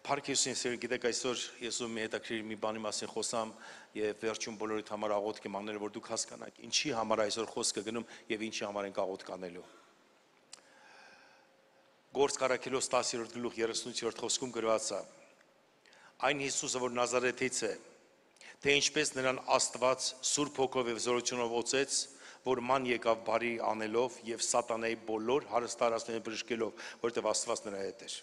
Փառքեսին սեր գիտեք այսօր ես ու մի հետաքրիր մի բանի մասին խոսամ եւ վերջում բոլորիդ համար աղոթք եմ անել որ դուք հասկանաք ինչի համար այսօր խոսքը գնում եւ ինչի համար ենք աղոթք անելու Գործք առաքելոց 10-րդ գլուխ 38-րդ խոսքում գրված է Այն Հիսուսը որ Նազարեթից է թե ինչպես նրան Աստված Սուրբ Հոգով եւ զորությունով օծեց որ ման եկավ բարի անելով եւ սատանայի բոլոր հարստարածները բժշկելով որտեղ Աստված նրա հետ էր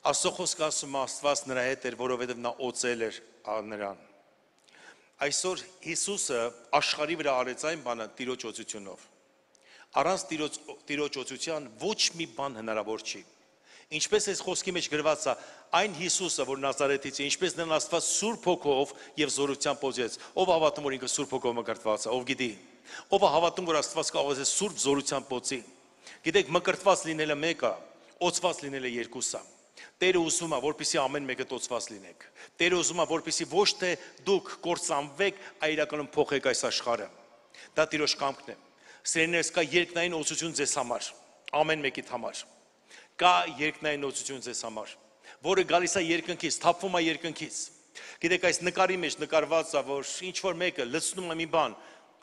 Աստծո խոսքը ասում է Աստված նրա հետ էր, որովհետև նա օծել էր նրան։ Այսօր Հիսուսը աշխարհի վրա արեց այն բանը Տիրոջ օծությունով։ Առանց Տիրոջ օծության ոչ մի բան հնարավոր չի։ Ինչպես այս խոսքի մեջ գրված է, այն Հիսուսը, որ Նազարեթից է, ինչպես նրան Աստված Սուրբ Հոգով եւ զորությամբ օծեց։ Ով հավատում որ ինքը Սուրբ Հոգով մկրտված է, ով գիտի։ Ով հավատում որ Աստված կարող է Սուրբ զորությամբ օծի։ Գիտեք, մկրտված լինելը մեկը, օծված լինելը երկուսը։ Տերը ուզում է, որպեսզի ամեն մեկը տոծված լինեք։ Տերը ուզում է, որպեսզի ոչ թե դուք կործանվեք, այլ իրականում փոխեք այս աշխարհը։ Դա Տիրոջ կամքն է։ Սերներս կա երկնային օծություն ձեզ համար, ամեն մեկիդ համար։ Կա երկնային օծություն ձեզ համար, որը գալիս է երկնքից, թափվում է երկնքից։ Գիտեք, այս նկարի մեջ նկարված է, որ ինչ որ մեկը լցնում է մի բան,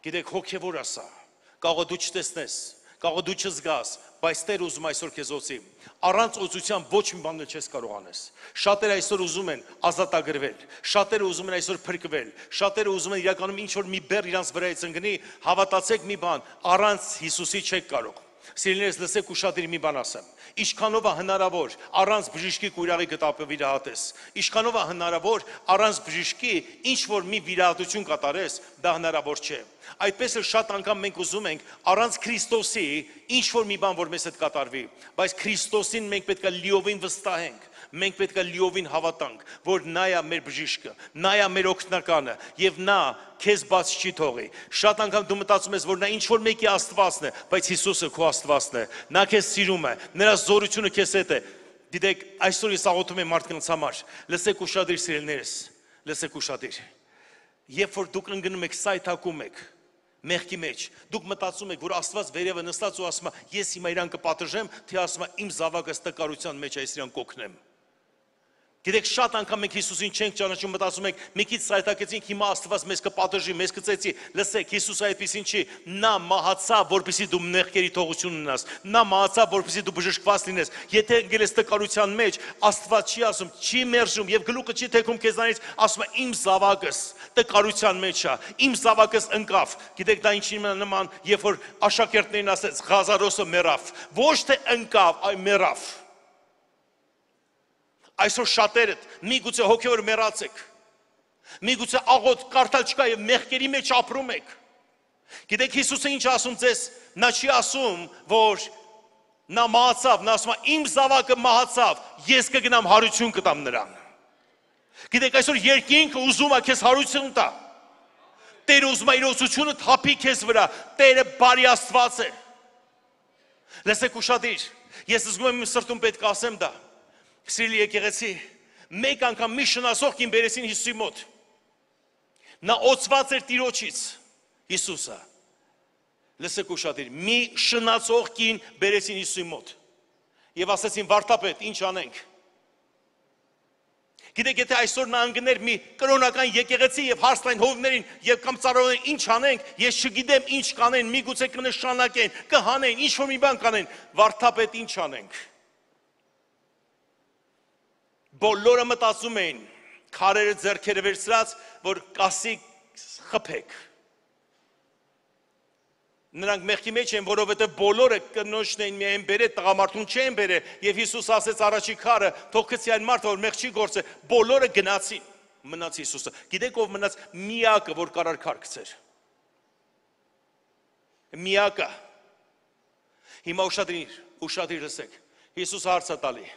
գիտեք, հոգևոր է սա։ Կարող է դու չտեսնես, կարող է դու չզգաս, բայց Տեր ուզում այսօր քեզ օծի։ Առանց օծության ոչ մի բան չես կարող անես։ Շատերը այսօր ուզում են ազատագրվել, շատերը ուզում են այսօր փրկվել, շատերը ուզում են իրականում ինչ որ մի բեռ իրանց վրայից ընկնի, հավատացեք մի բան, առանց Հիսուսի չեք կարող։ Սիրելիներս, լսեք ուշադիր մի բան ասեմ։ Ինչքանով է հնարավոր առանց բժշկի կույրաղի գտապը վիրահատես։ Ինչքանով է հնարավոր առանց բժշկի ինչ որ մի վիրահատություն կատարես, դա հնարավոր չէ։ Այդպես էլ շատ անգամ մենք ուզում ենք առանց Քրիստոսի ինչ որ մի բան որ մեզ հետ կատարվի, բայց Քրիստոսին մենք պետք է լիովին վստահենք։ Մենք պետք է լիովին հավատանք, որ նա է մեր բժիշկը, նա է մեր օգնականը եւ նա քեզ բաց չի թողի։ Շատ անգամ դու մտածում ես, որ նա ինչ որ մեկի Աստվածն է, բայց Հիսուսը քո Աստվածն է։ Նա քեզ սիրում է, նրա զորությունը քեզ հետ է։ Գիտեք, այսօր ես աղոթում եմ մարդկանց համար։ Լսեք ուշադիր սիրելիներս, լսեք ուշադիր։ Երբ որ դուք ընկնում եք, սայթակում եք, մեղքի մեջ, դուք մտածում եք, որ Աստված վերևը նստած ու ասում է, ես հիմա իրան կպատժեմ, թե ասում է, իմ զավակս տկարության մեջ է, ես իրան կօգնեմ։ Գիտեք, շատ անգամ մենք Հիսուսին չենք ճանաչում, մտածում ենք, մի քիչ սայթակեցինք, հիմա Աստված մեզ կպատժի, մեզ կծեծի։ Լսեք, Հիսուսը այդպեսին չի, նա մահացավ, որպեսզի դու մեղքերի թողություն ունենաս։ Նա մահացավ, որպեսզի դու բժշկված լինես։ Եթե ընկել ես տկարության մեջ, Աստված չի ասում, չի մերժում եւ գլուխը չի թեքում քեզանից, ասում է իմ զավակս տկարության մեջ է, իմ զավակս ընկավ։ Գիտեք, դա ինչի նման, երբ որ աշակերտներին ասեց, Ղազարոսը մեռավ, ոչ թե ընկավ, այլ մեռավ։ Այսօր շատերդ միգուցե հոգևոր մեռած եք, միգուցե աղոթք կարդալ չկա եւ մեղքերի մեջ ապրում եք։ Գիտեք Հիսուսը ինչ ասում ձեզ, նա չի ասում, որ նա մահացավ, նա ասում է իմ զավակը մահացավ, ես կգնամ հարություն կտամ նրան։ Գիտեք այսօր երկինքը ուզում է քեզ հարություն տա։ Տերը ուզում է իր օծությունը թափի քեզ վրա, Տերը բարի Աստված է։ Լսեք ուշադիր, ես զգում եմ իմ սրտում պետք է ասեմ դա։ Սիրելի եկեղեցի, մեկ անգամ մի շնացող կին բերեցին Հիսուսի մոտ։ Նա օծված էր Տիրոջից, Հիսուսը։ Լսեք ուշադիր, մի շնացող կին բերեցին Հիսուսի մոտ։ Եվ ասեցին, վարդապետ, ինչ անենք։ Գիտեք, եթե այսօր նա ընկներ մի կրոնական եկեղեցի եւ հարստային հովներին եւ կամ ծառայողներին ինչ անենք, ես չգիտեմ ինչ կանեն, միգուցե կնշանակեն, կհանեն, ինչ որ մի բան կանեն, վարդապետ ինչ անենք։ Բոլորը մտածում էին, քարերը ձեռքերը վերցրած, որ կասի խփեք։ Նրանք մեղքի մեջ են, որովհետև բոլորը կնոջն էին միայն բերել, տղամարդուն չեն բերել, եւ Հիսուս ասեց առաջի քարը, թող գցի այն մարդը, որ մեղ չի գործել, բոլորը գնացին, մնաց Հիսուսը։ Գիտեք ով մնաց միակը, որ կարար քար գցեր։ Միակը։ Հիմա ուշադիր լսեք։ Հիսուսը հարց է տալի։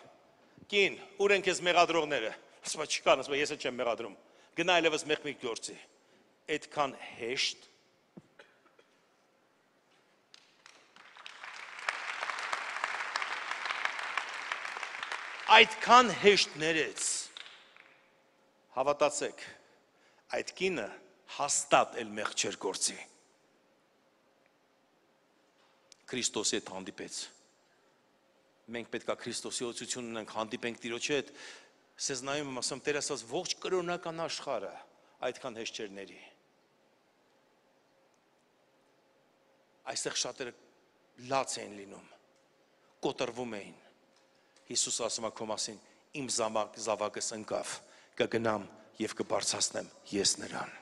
Կին, ուր են քեզ մեղադրողները։ Ասում է չկան, ասում է ես չեմ մեղադրում։ Գնա այլևս մեղ մի գործի։ Այդքան հեշտ։ Այդքան հեշտ ներեց։ Հավատացեք, այդ կինը հաստատ էլ մեղ չէր գործի։ Քրիստոսի հետ հանդիպեց։ Մենք պետք է Քրիստոսի օծություն ունենք, հանդիպենք Տիրոջի հետ, Սեզ նայում եմ ասում, Տեր ասած, ողջ կրոնական աշխարհը այդքան հեշտ չէր ների։ Այստեղ շատերը լաց էին լինում, կոտրվում էին։ Հիսուս ասում է քո մասին, իմ զավակս ընկավ, կգնամ եւ կբարձրացնեմ ես նրան։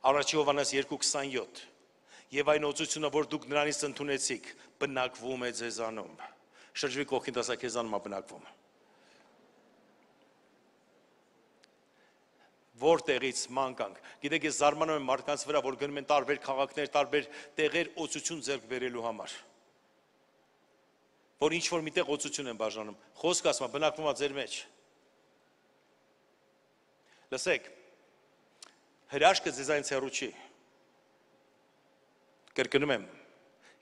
Առաջի Հովհաննես 2:27 Եվ այն օծությունը, որ դուք նրանից ընդունեցիք, բնակվում է ձեզանում։ Շրջվի կողքին ասա քեզանում է բնակվում։ Որտեղից մանկանք։ Գիտեք, ես զարմանում եմ մարդկանց վրա, որ գնում են տարբեր քաղաքներ, տարբեր տեղեր օծություն ձեռք բերելու համար։ Որ ինչ որ միտեղ օծություն են բաժանում։ Խոսքը ասում է, բնակվում է ձեր մեջ։ Լսեք, հրաշքը ձեզանից հեռու չի։ Կրկնում եմ,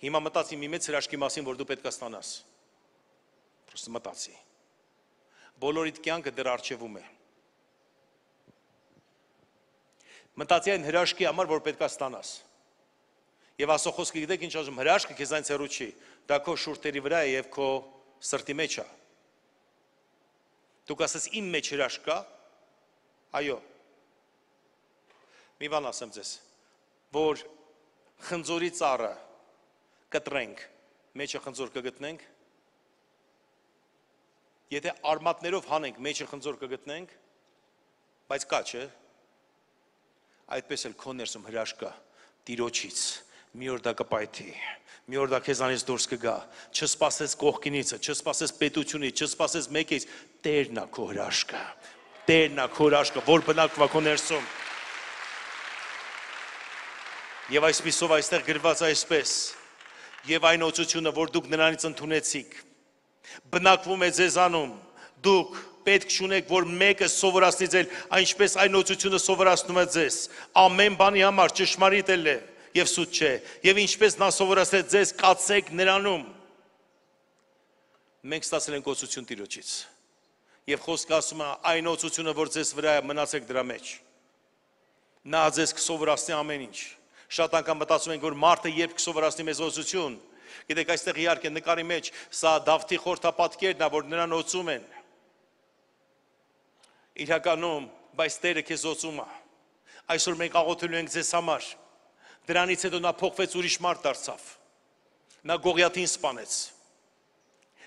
հիմա մտածի մի մեծ հրաշքի մասին, որ դու պետք է ստանաս։ Պրոստը մտածի։ Բոլորիդ կյանքը դեռ առջևում է։ Մտածի այն հրաշքի համար, որ պետք է ստանաս։ Եվ Աստծո խոսքը գիտեք ինչ ասում, հրաշքը քեզանից հեռու չի, դա քո շուրթերի վրա է եւ քո սրտի մեջ է։ Դուք ասես իմ մեջ հրաշք կա, այո։ Մի բան ասեմ ձեզ, որ խնձորի ծառը կտրենք, մեջը խնձոր կգտնենք, եթե արմատներով հանենք, մեջը խնձոր կգտնենք, բայց կա, չէ՞։ Այդպես էլ քո ներսում հրաշք կա Տիրոջից, մի օր դա կպայթի, մի օր դա քեզանից դուրս կգա, չսպասես կողքինիցը, չսպասես պետությունից, չսպասես մեկից, Տերն է քո հրաշքը, Տերն է քո հրաշքը, որ բնակվում է քո ներսում։ Եվ այսպիսով այստեղ գրված այսպես, եւ այն օծությունը, որ դուք նրանից ընդունեցիք, բնակվում է ձեզանում, դուք պետք չունեք, որ մեկը սովորացնի ձեզ, այնպես այն օծությունը սովորացնում է ձեզ, ամեն բանի համար ճշմարիտ է եւ սուտ չէ, եւ ինչպես նա սովորացրեց ձեզ, կացեք նրանում։ Մենք ստացել ենք օծություն Տիրոջից, եւ խոսքը ասում է, այն օծությունը, որ ձեզ վրա է, մնացեք դրա մեջ։ Նա ձեզ կսովորացնի ամեն ինչ։ Շատ անգամ մտածում ենք, որ մարդը երբ կսովորացնի մեզ օծություն, գիտեք, այստեղ իհարկե նկարի մեջ սա Դավթի խորհրդապատկերն է, որ նրան օծում են։ Իրականում, բայց Տերը քեզ օծում է։ Այսօր մենք աղոթելու ենք ձեզ համար։ Դրանից հետո նա փոխվեց ուրիշ մարդ դարձավ։ Նա Գողիաթին սպանեց։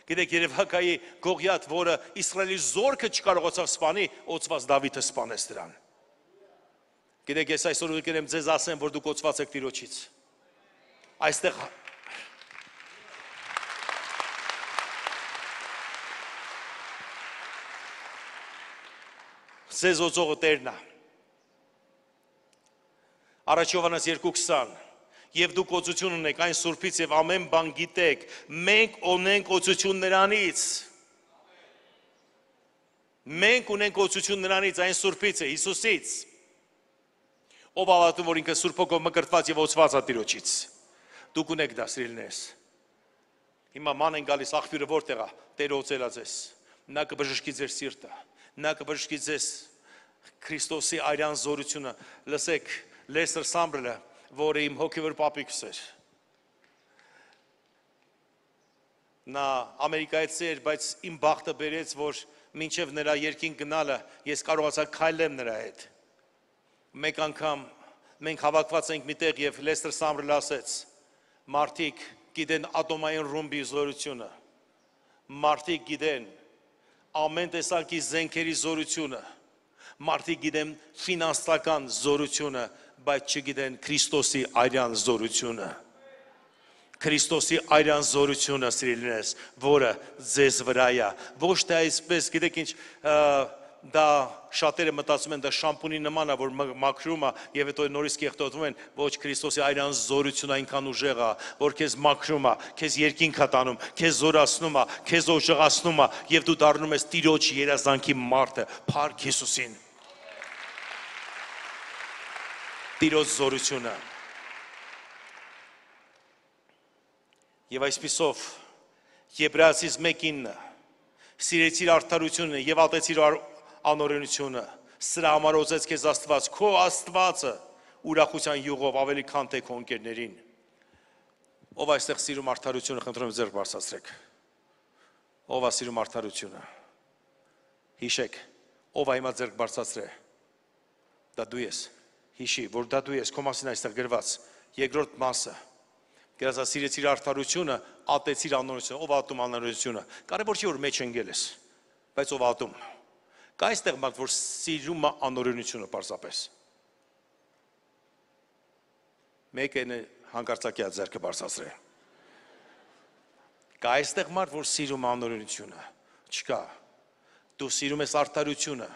Գիտեք, Երևակայի Գողիաթ, որը Իսրայելի զորքը չկարողացավ սպանի, օծված Դավիթը սպանեց դրան։ Գիտեք, ես այսօր ուղղակի եմ ձեզ ասեմ, որ դուք օծված եք Տիրոջից։ Այստեղ Ձեզ օծողը Տերն է։ Առաջի Հովհաննես 2:20 Եվ դուք օծություն ունեք այն Սուրբից եւ ամեն բան գիտեք, մենք ունենք օծություն նրանից։ Մենք ունենք օծություն նրանից, այն Սուրբից է, Հիսուսից։ Ով հավատում, որ ինքը Սուրբ Հոգով մկրտված եւ օծված է Տիրոջից։ Դուք ունեք դա, սիրելիներս։ Հիմա ման են գալիս, աղբյուրը որտեղ է, Տերը օծել է ձեզ։ Նա կբժշկի ձեր սիրտը։ Նա կբժշկի ձեզ Քրիստոսի արյան զորությունը։ Լսեք, Լեսթեր Սամբրելը, որը իմ հոգևոր պապիկս էր։ Նա Ամերիկայից էր, բայց իմ բախտը բերեց, որ մինչև նրա երկինք գնալը ես կարողացա քայլեմ նրա հետ։ Մեկ անգամ մենք հավաքված ենք միտեղ եւ Լեսթեր Սամբրելը ասեց. մարդիկ գիտեն ատոմային ռումբի զորությունը։ Մարդիկ գիտեն ամեն տեսակի զենքերի զորությունը, մարդիկ գիտեն ֆինանսական զորությունը, բայց չգիտեն Քրիստոսի արյան զորությունը։ Քրիստոսի արյան զորությունը, սիրելիներս, որը ձեզ վրա է։ Ոչ թե այսպես, գիտեք ինչ, դա շատերը մտածում են, դա շամպունի նման է, որ մաքրում է եւ հետո նորից կեղտոտվում են, ոչ, Քրիստոսի արյան զորությունը այնքան ուժեղ է, որ քեզ մաքրում է, քեզ երկինք է տանում, քեզ զորացնում է, քեզ օժեղացնում է եւ դու դառնում ես Տիրոջ երազանքի մարդը, փառք Հիսուսին։ Տիրոջ զորությունը։ Եվ այսպիսով Եբրայեցիս 1:9 սիրեցիր արդարությունը եւ ատեցիր անօրենությունը, սրա համար օծեց քեզ Աստված, քո Աստվածը ուրախության յուղով ավելի քան թե քո ընկերներին։ Ով այստեղ սիրում արդարությունը, խնդրում եմ ձեռք բարձրացրեք։ Ով է սիրում արդարությունը։ Հիշեք, ով է հիմա ձեռք բարձրացրե։ Դա դու ես։ Հիշի, որ դա դու ես, քո մասին այստեղ գրված։ Երկրորդ մասը։ Գրած սիրեցիր արդարությունը, ատեցիր անօրենությունը, ով ատում անօրենությունը։ Կարևոր չի որ մեջ ընկել ես, բայց ով ատում։ Կա այստեղ մարդ, որ սիրում է անօրենությունը պարզապես։ Մեկը հանկարծակի ձեռքը բարձրացրե։ Կա այստեղ մարդ, որ սիրում է անօրենությունը։ Չկա։ Դու սիրում ես արդարությունը։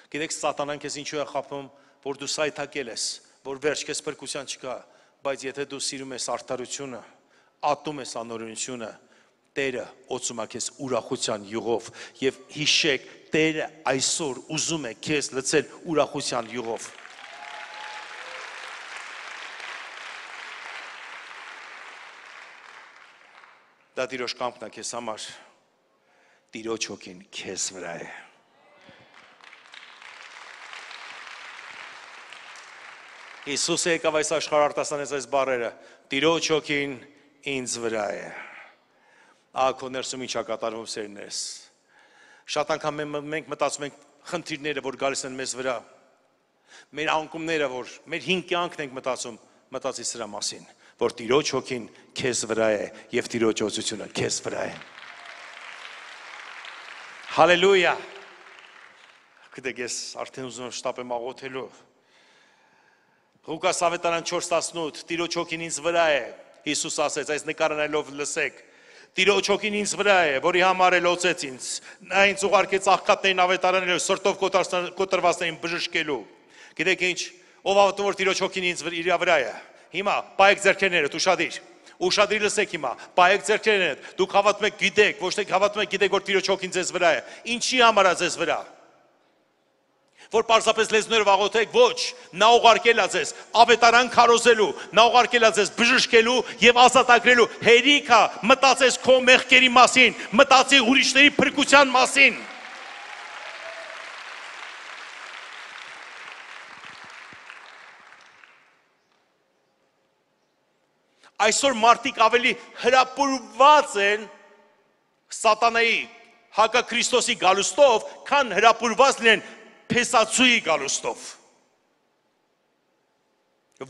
Գիտեք, սատանան քեզ ինչու է խաբում, որ դու սայթակել ես, որ վերջ քեզ փրկության չկա, բայց եթե դու սիրում ես արդարությունը, ատում ես անօրենությունը, Տերը օծում է քեզ ուրախության յուղով եւ հիշեք, Տերը այսօր ուզում է քեզ լցել ուրախության յուղով։ Դա Տիրոջ կամքն է քեզ համար։ Տիրոջ հոգին քեզ վրա է։ Հիսուսը եկավ այս աշխարհ արտասանեց այս բառերը. Տիրոջ հոգին ինձ վրա է։ Ահա ներսում ինչ է կատարվում սերներս։ Շատ անգամ մենք մտածում ենք խնդիրները, որ գալիս են մեզ վրա։ Մեր անկումները, որ մեր հին կյանքն ենք մտածում, մտածի սրա մասին, որ Տիրոջ հոգին քեզ վրա է եւ Տիրոջ օծությունը քեզ վրա է։ Հալելույա։ Գիտեք, ես արդեն ուզում եմ շտապեմ աղոթելու։ Ղուկաս ավետարան 4:18 Տիրոջ հոգին ինձ վրա է։ Հիսուս ասեց, այս նկարանելով լսեք։ Տիրոջ հոգին ինձ վրա է, որի համար էլ օծեց ինձ։ Նա ինձ ուղարկեց աղքատներին ավետարանելու, սրտով կոտրվածներին բժշկելու։ Գիտեք ինչ, ով ավտում որ Տիրոջ հոգին ինձ իր վրա է։ Հիմա պայեք ձեռքերներդ, ուշադիր։ Ուշադիր լսեք հիմա, պայեք ձեռքերներդ։ Դուք հավատում եք, գիտեք, ոչ թե հավատում եք, գիտեք, որ Տիրոջ հոգին ձեզ վրա է։ Ինչի համար է ձեզ վրա։ Որ պարզապես լեզուներով աղոթեք, ոչ, նա ուղարկել է ձեզ ավետարան քարոզելու, նա ուղարկել է ձեզ բժշկելու եւ ազատագրելու, հերիքա մտածես քո մեղքերի մասին, մտածի ուրիշների փրկության մասին։ Այսօր մարդիկ ավելի հրապուրված են սատանայի հակաքրիստոսի գալուստով, քան հրապուրված լինեն փեսացուի գալուստով։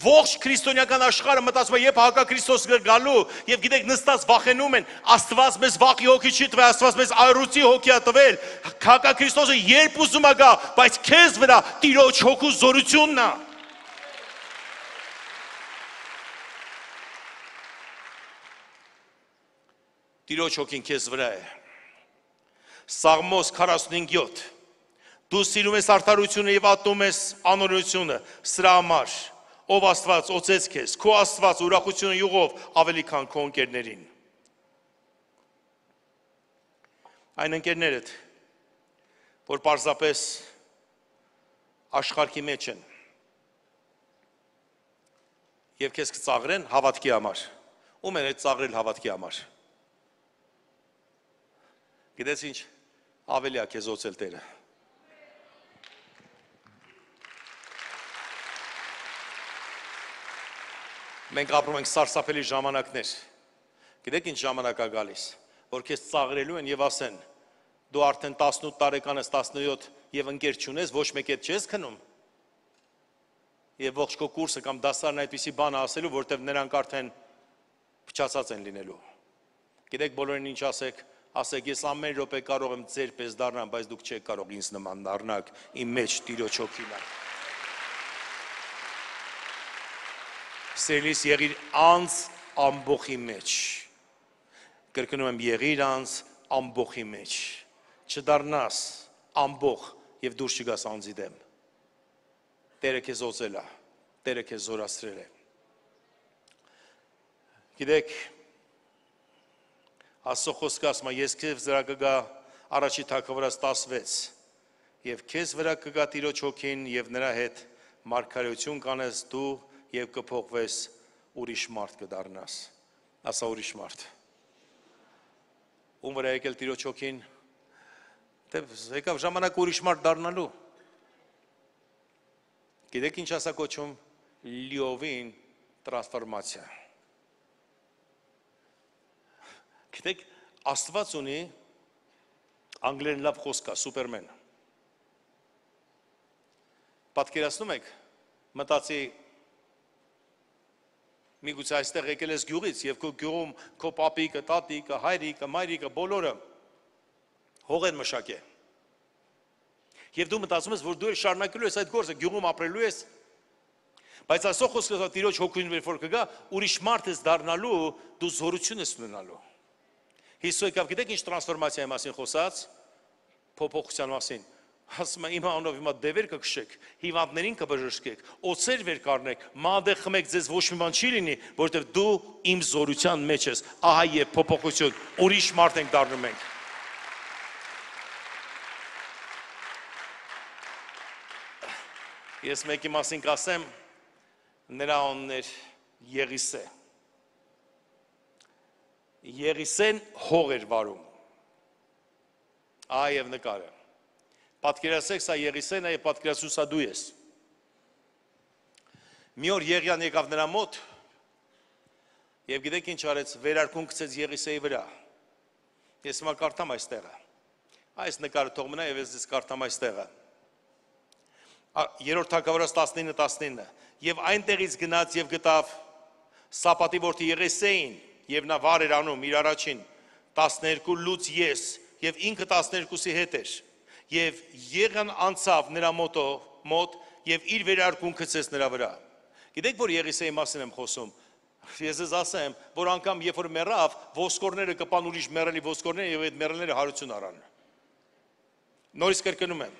Ողջ քրիստոնեական աշխարհը մտածում է, երբ հակաքրիստոս գալու, եւ գիտեք, նստած վախենում են, Աստված մեզ վախի հոգի չի տվել, Աստված մեզ այրուցի հոգի է տվել։ Հակաքրիստոսը երբ ուզում է գա, բայց քեզ վրա Տիրոջ հոգու զորությունն է։ Տիրոջ հոգին քեզ վրա է։ Սաղմոս 45:7 Դու սիրում ես արդարությունը եւ ատում ես անօրենությունը, սրա համար ով Աստված օծեց քեզ, քո Աստված ուրախությունը յուղով ավելի քան քո ընկերներին։ Այն ընկերներդ, որ պարզապես աշխարհի մեջ են եւ քեզ կծաղրեն հավատքի համար։ Ում են այդ ծաղրել հավատքի համար։ Գիտես ինչ, ավելի է քեզ օծել Տերը։ Մենք ապրում ենք սարսափելի ժամանակներ։ Գիտեք ինչ ժամանակ է գալիս, որ քեզ ծաղրելու են եւ ասեն, դու արդեն 18 տարեկան ես, 17 եւ ընկեր չունես, ոչ մեկ հետ չես քնում։ Եվ ողջ քո կուրսը կամ դասարն այդպիսի բան ասելու, որտեվ նրանք արդեն փչացած են լինելու։ Գիտեք բոլորին ինչ ասեք, ես ամեն րոպե կարող եմ ձեր պես դառնամ, բայց դուք չեք կարող ինձ նման դառնալ, իմ մեջ Տիրոջ հոգին է։ Սիրելիս, եղիր անձ ամբոխի մեջ։ Կրկնում եմ, եղիր անձ ամբոխի մեջ։ Չդառնաս ամբոխ եւ դուրս չգաս անձի դեմ։ Տերը քեզ օծել է, Տերը քեզ զորացրել է։ Գիտեք, Աստծո խոսքը ասում է, ես քեզ վրա կգա Առաջի Թագավորաց 16 եւ քեզ վրա կգա Տիրոջ հոգին եւ նրա հետ մարգարեություն կանես դու եւ կփոխվես ուրիշ մարդ կդառնաս։ Ասա ուրիշ մարդ։ Ում վրա եկել Տիրոջ հոգին, դե եկավ ժամանակ ուրիշ մարդ դառնալու։ Գիտեք ինչ ասա կոչում լիովին տրանսֆորմացիա։ Գիտեք, Աստված ունի անգլերեն լավ խոսք կա, սուպերմեն։ Պատկերացնում եք, մտածի միգուցե այստեղ եկել ես գյուղից եւ քո գյուղում քո պապիկը, տատիկը, հայրիկը, մայրիկը բոլորը հող են մշակե։ Եվ դու մտածում ես, որ դու էլ շարունակելու ես այդ գործը, գյուղում ապրելու ես, բայց այսօր խոսքը Տիրոջ հոգին որ կգա, ուրիշ մարդ ես դառնալու, դու զորություն ես ունենալու։ Հիսուսը եկավ, գիտեք ինչ տրանսֆորմացիայի մասին խոսած, փոփոխության մասին։ Ասում է, իմ անունով հիմա դևեր կքշեք, հիվանդներին կբժշկեք, օձեր վեր կառնեք, մանդեղ խմեք, ձեզ ոչ մի բան չի լինի, որովհետև դու իմ զորության մեջ ես։ Ահա եւ փոփոխություն, ուրիշ մարդ ենք դառնում մենք։ Ես մեկի մասին կասեմ, նրա անունն էր Եղիսե։ Եղիսեն հող էր վարում։ Ահա եւ նկարը։ Պատկերացրեք, սա Եղիսեն է, պատկերացրու սա դու ես։ Մի օր Եղիան եկավ նրա մոտ եւ գիտեք ինչ արեց, վերարկուն գցեց Եղիսեի վրա։ Ես հիմա կարդամ այստեղը։ Այս նկարը թող մնա եւ ես ձեզ կարդամ այստեղը։ Երրորդ Թագավորաց 19:19 եւ այնտեղից գնաց եւ գտավ Սապատի որդի Եղիսեին եւ նա վար էր անում իր առաջին 12 լուց ես եւ ինքը 12-ի հետ էր եւ Եղիան անցավ նրա մոտ եւ իր վերարկուն գցեց նրա վրա։ Գիտեք որ Եղիսեի մասին եմ խոսում։ Ես ձեզ ասեմ, որ անգամ երբ որ մեռավ, ոսկորները կպան ուրիշ մեռելի ոսկորները եւ այդ մեռելները հարություն առան։ Նորից կրկնում եմ։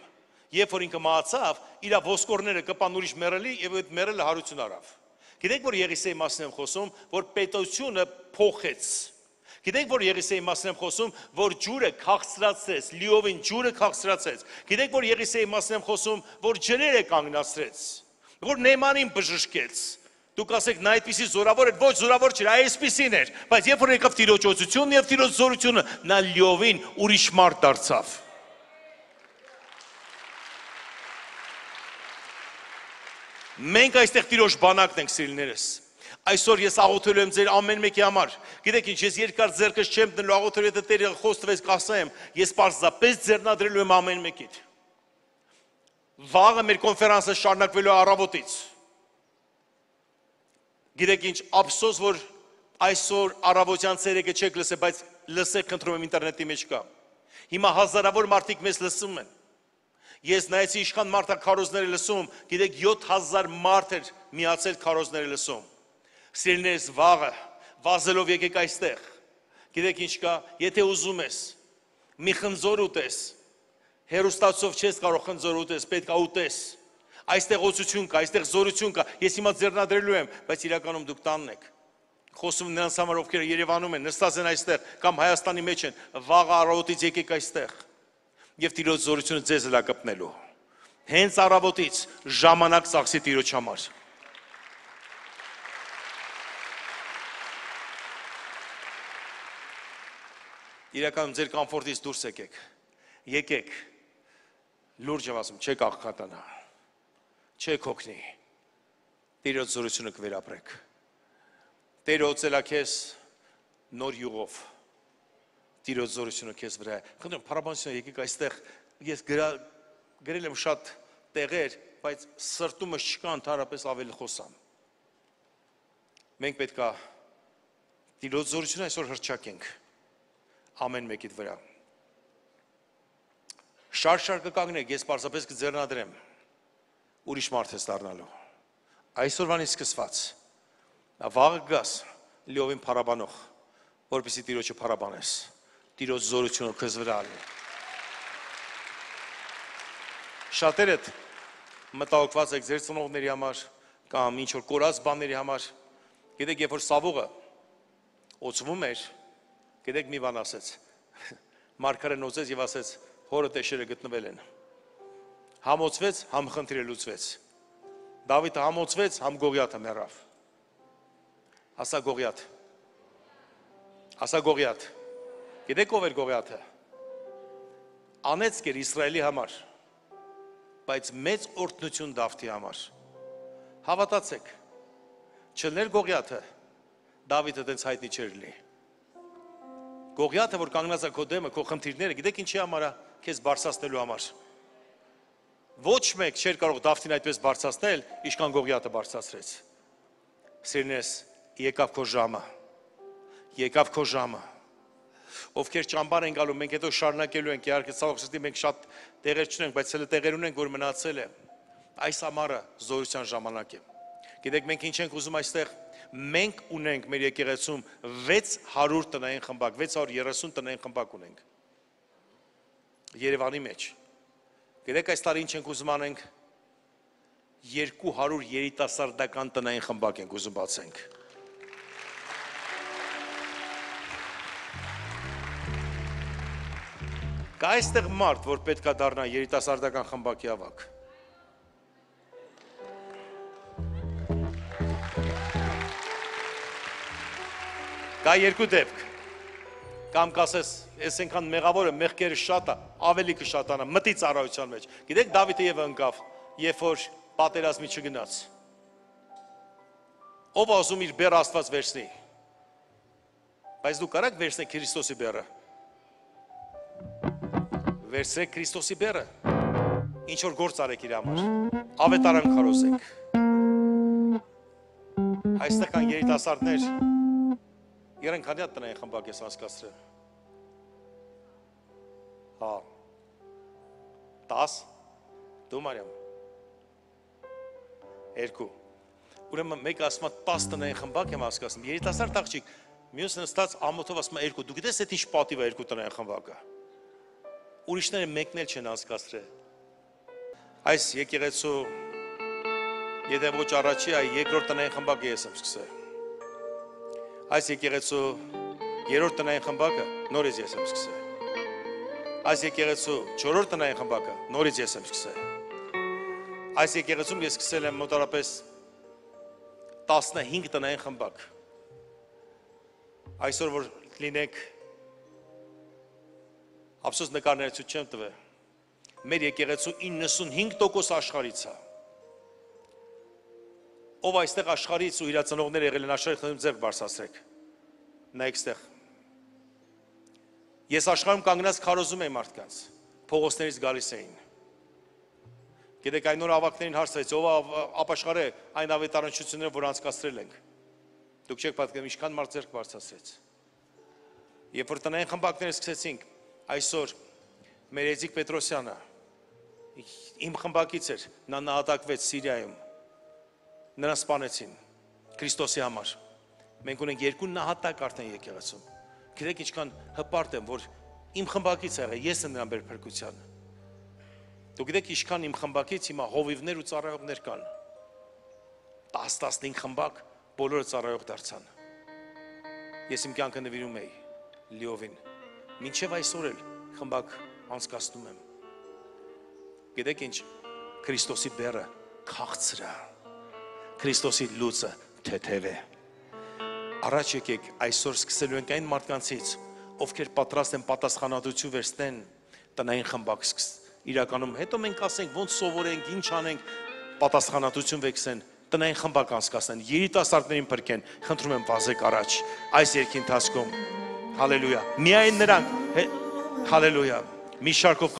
Երբ որ ինքը մահացավ, իր ոսկորները կպան ուրիշ մեռելի եւ այդ մեռելը հարություն առավ։ Գիտեք որ Եղիսեի մասին եմ խոսում, որ պետությունը փոխեց։ Գիտեք որ Եղիսեի մասին եմ խոսում, որ ջուրը քաղցրացեց, լիովին ջուրը քաղցրացեց։ Գիտեք որ Եղիսեի մասին եմ խոսում, որ ջրերը կանգնացրեց, որ Նեմանին բժշկեց։ Դուք ասեք նա այդպիսի զորավոր էր, ոչ զորավոր չէր, այսպիսին էր, բայց երբ որ եկավ Տիրոջ օծությունն եւ Տիրոջ զորությունը, նա լիովին ուրիշ մարդ դարձավ։ Մենք այստեղ Տիրոջ բանակն ենք սիրելիներս։ Այսօր ես աղոթելու եմ ձեր ամեն մեկի համար։ Գիտեք ինչ, ես երկար ձեռքս չեմ դնելու աղոթելու, եթե Տերը խոստվեց կասեմ, ես պարզապես ձեռնադրելու եմ ամեն մեկիդ։ Վաղը մեր կոնֆերանսը շարունակվելու է առավոտից։ Գիտեք ինչ, ափսոս որ այսօր առավոտյան ցերեկը չեք լսել, բայց լսեք, խնդրում եմ ինտերնետի մեջ կա։ Հիմա հազարավոր մարդիկ մեզ լսում են։ Ես նայեցի իշխան մարդաքարոզները լսում, գիտեք 7000 մարդ էր միացել քարոզները լսում։ Սիրելիներս վաղը, վազելով եկեք այստեղ։ Գիտեք ինչ կա, եթե ուզում ես, մի խնձոր ուտես, հերոստացով չես կարող խնձոր ուտես, պետք է ուտես։ Այստեղ օծություն կա, այստեղ զորություն կա, ես հիմա ձեռնադրելու եմ, բայց իրականում դուք տանն եք։ Խոսում նրանց համար, ովքեր Երևանում են, նստած են այստեղ, կամ Հայաստանի մեջ են, վաղը առավոտից եկեք այստեղ։ Եվ Տիրոջ զորությունը ձեզ էլ կպնելու։ Հենց առավոտից ժամանակ ծախսի Տիրոջ համար։ Իրականում ձեր կոմֆորտից դուրս եկեք։ Եկեք։ Լուրջ եմ ասում, չեք աղքատանա։ Չեք հոգնի։ Տիրոջ զորությունը կվերապրեք։ Տերը օծելա քեզ նոր յուղով։ Տիրոջ զորությունը քեզ վրա է։ Խնդրում փառաբանություն եկեք այստեղ, ես գրել եմ շատ տեղեր, բայց սրտումս չկա ընդհանրապես ավելի խոսամ։ Մենք պետք է Տիրոջ զորությունը այսօր հռչակենք ամեն մեկիդ վրա։ Շարժ կկանգնեք, ես պարզապես կձեռնադրեմ, ուրիշ մարդ ես դառնալու։ Այսօրվանից սկսված, վաղը գաս լիովին փառաբանող, որպեսզի Տիրոջը փառաբանես։ Տիրոջ զորությունը քեզ վրա ալի։ Շատերդ մտահոգված եք ձեր ծնողների համար կամ ինչ որ կորած բաների համար։ Գիտեք, երբ որ Սավուղը օծվում էր, գիտեք մի բան ասեց։ Մարգարեն օծեց եւ ասեց, հորը տեշերը գտնվել են։ Համոծվեց, համ խնդիրը լուծվեց։ Դավիթը համոծվեց, համ Գողիաթը մեռավ։ Ասա Գողիաթ։ Ասա Գողիաթ։ Գիտեք ով էր Գողիաթը։ Անեծք էր Իսրայելի համար, բայց մեծ օրհնություն Դավթի համար։ Հավատացեք, չլներ Գողիաթը, Դավիթը տենց հայտնի չէր լինի։ Գողիաթը, որ կանգնած է քո դեմը, քո խնդիրները, գիտեք ինչի համար է, քեզ բարձրացնելու համար։ Ոչ մեկ չէր կարող Դավթին այդպես բարձրացնել, ինչքան Գողիաթը բարձրացրեց։ Սիրնես, եկավ քո ժամը։ Եկավ քո ժամը։ Ովքեր ճամբար են գալու, մենք հետո շարունակելու ենք, իհարկե ցավոք սրտի մենք շատ տեղեր չունենք, բայց հələ տեղեր ունենք, որ մնացել է։ Այս ամառը զորության ժամանակ է։ Գիտեք մենք ինչ ենք ուզում այստեղ։ Մենք ունենք մեր եկեղեցում 600 տնային խմբակ, 630 տնային խմբակ ունենք։ Երևանի մեջ։ Գիտեք այս տարի ինչ ենք ուզում անենք։ 200 երիտասարդական տնային խմբակ ենք ուզում բացենք։ Կա այստեղ մարդ, որ պետք է դառնա երիտասարդական խմբակի ավակ։ Կա երկու դեպք։ Կամ կասես, ես այնքան մեղավոր եմ, մեղքերը շատ է, ավելի կշատանա, մտի ծառայության մեջ։ Գիտեք Դավիթը եւ ընկավ, երբ որ պատերազմի չգնաց։ Ով ասում իր բեռը Աստված վերցնի։ Բայց դու կարաք վերցնեք Քրիստոսի բեռը։ Վերցրեք Քրիստոսի բեռը, ինչ որ գործ արեք իր համար, ավետարան քարոզեք։ Այստեղ կան երիտասարդներ, երեն քանի հատ տնային խմբակ ես անցկացրել։ Հա։ 10, դու Մարիամ։ 2։ Ուրեմն մեկ ասում է 10 տնային խմբակ եմ անցկացնում, երիտասարդ աղջիկ, մյուսը նստած ամոթով ասում է 2, դու գիտես այդ ինչ պատիվ է 2 տնային խմբակը։ Ուրիշները մեկն էլ չեն անցկացրել։ Այս եկեղեցու եթե ոչ առաջի, այ երկրորդ տնային խմբակը ես եմ սկսել։ Այս եկեղեցու երրորդ տնային խմբակը նորից ես եմ սկսել։ Այս եկեղեցու չորրորդ տնային խմբակը նորից ես եմ սկսել։ Այս եկեղեցում ես սկսել եմ մոտավորապես 15 տնային խմբակ։ Այսօր որ լինեք Ափսոս նկարները ցույց չեմ տվել։ Մեր եկեղեցու 95% աշխարհից է։ Ով այստեղ աշխարհից ու իր ծնողները եղել են աշխարհի խնդրում ձեռք բարձրացրեք։ Նայեք այստեղ։ Ես աշխարհում կանգնած քարոզում եմ մարդկանց, փողոցներից գալիս էին։ Գիտեք այն նոր ավակներին հարցրեց, ով ապաշխարե այն ավետարանչությունները, որ անցկացրել ենք։ Դուք չեք պատկերացնում ինչքան մարդ ձեռք բարձրացրեց։ Երբ որ տնային խմբակները սկսեցինք, այսօր մեր Էձիկ Պետրոսյանը իմ խմբակից էր, նա նահատակվեց Սիրիայում, նրան սպանեցին Քրիստոսի համար։ Մենք ունենք 2 նահատակ արդեն եկեղեցում։ Գիտեք ինչքան հպարտ եմ, որ իմ խմբակից եղել, ես եմ նրան բեր փրկության։ Դուք գիտեք ինչքան իմ խմբակից հիմա հովիվներ ու ծառայողներ կան։ 10-15 խմբակ, բոլորը ծառայող դարձան։ Ես իմ կյանքը նվիրում էի լիովին։ Մինչև այսօր էլ խմբակ անցկացնում եմ։ Գիտեք ինչ, Քրիստոսի բեռը քաղցր է, Քրիստոսի լույսը թեթև է։ Առաջ եկեք այսօր սկսելու ենք այն մարդկանցից, ովքեր պատրաստ են պատասխանատվություն վերցնեն տնային խմբակ իրականում, հետո մենք ասենք ոնց սովորենք, ինչ անենք, պատասխանատվություն վերցնեն, տնային խմբակ անցկացնեն, երիտասարդներին փրկեն, խնդրում եմ վազեք առաջ այս երկի ընթացքում։ Հալելույա։ Միայն նրանք, հալելույա։ Մի շարքով